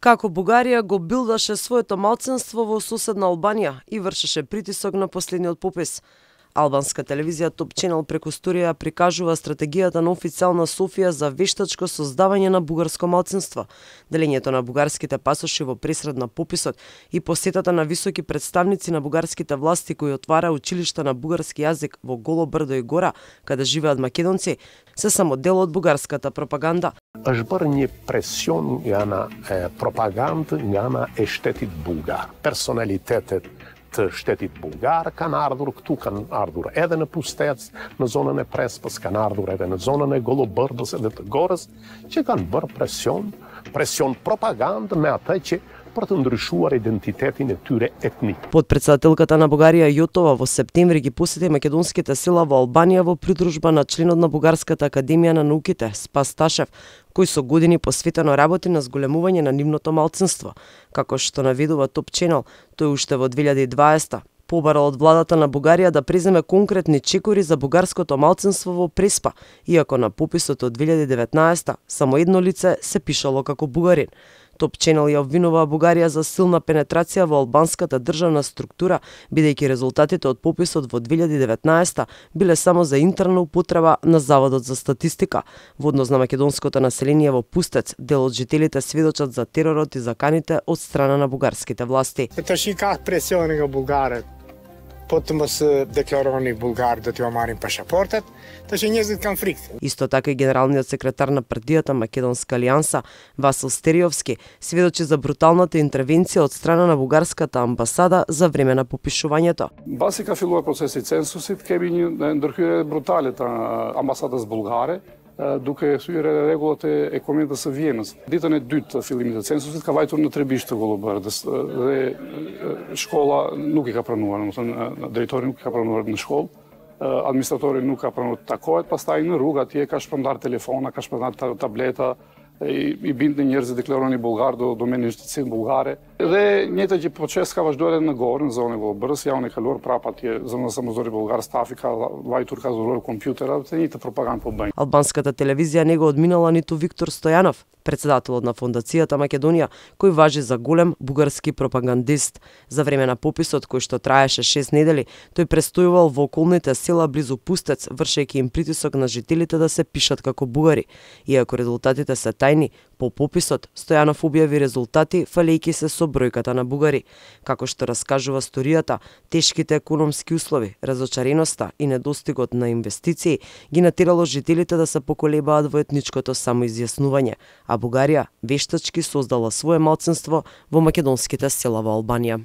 Како Бугарија го билдаше своето малцинство во соседна Албанија и вршеше притисок на последниот попис. Албанска телевизија Топ Ченел преку сторија прикажува стратегијата на официјална Софија за вештачко создавање на бугарско малцинство, делењето на бугарските пасоши во пресред на пописот и посетата на високи представници на бугарските власти кои отвара училишта на бугарски јазик во Голо брдо и гора, каде живеат македонци, се само дел од бугарската пропаганда. Është bërë një presion nga ana propagandë, nga ana e shtetit bulgar. Personalitetet të shtetit bulgar kanë ardhur këtu, kanë ardhur edhe në Pustec, në zonën e Prespës, kanë ardhur edhe në zonën e Golobërdës edhe të Gorës, që kanë bërë presion propagandë me atë që për të ndryshuar identitetin e tyre etnik. Подпредседателката на Бугарија Јотова во септември ги посети македонските села во Албанија во придружба на членот на Бугарската академија на науките Спас Ташев, кој со години посветено работи на зголемување на нивното малцинство. Како што наведува Топ Ченел, тој уште во 2020 побарал од владата на Бугарија да преземе конкретни чекори за бугарското малцинство во Преспа, иако на пописот од 2019 само едно лице се пишало како бугарин. Топ Ченел ја обвинува Бугарија за силна пенетрација во албанската државна структура, бидејќи резултатите од пописот во 2019 биле само за интерна употреба на Заводот за статистика. Во однос на македонското население во Пустец, дел од жителите сведочат за теророт и заканите од страна на бугарските власти. Как пресиони Бугарët, потом се декларовани Булгар да ти омарим пашапортот, така незит конфликт. Исто така и генералниот секретар на партијата Македонска алијанса Васил Стериовски сведочи за бруталната интервенција од страна на бугарската амбасада за време на попишувањето. Баси ка филува процеси цензусит, кеби ndërhyrje brutale të ambasadës bulgare, duke hyrë rregullat e Konventit së Vjenës. Ditën e dytë të fillimit të censusit ka vajtur në Trebisht të Golobërdës dhe shkolla nuk i ka pranuar, domethënë drejtori nuk i ka pranuar në shkollë, administratori nuk ka pranuar të takohet, pastaj në rrugë atje ka shpërndar telefona, ka shpërndar tableta, i bindën njerëzit deklaroni bulgar do domenin shtetësinë bulgare. Dhe njëjta që proces ka vazhduar edhe në Gorë, në zonën e Golobërës, javën e kaluar prapë atje zonën e Samozori bulgar, stafi ka vajtur, ka zuluar kompjutera, të njëjtë propagandë po bëjnë. Албанската телевизија не го одминала ниту Виктор Стојанов, председателот на Фондацијата Македонија, кој важи за голем бугарски пропагандист. За време на пописот кој што траеше 6 недели, тој престојувал во околните села близу Пустец, вршејќи им притисок на жителите да се пишат како бугари. Иако резултатите се тајни, по пописот Стојанов објави резултати фалејќи се со бројката на бугари. Како што раскажува сторијата, тешките економски услови, разочареноста и недостигот на инвестиции ги натерало жителите да се поколебаат во етничкото самоизјаснување, а Бугарија вештачки создала свое малцинство во македонските села во Албанија.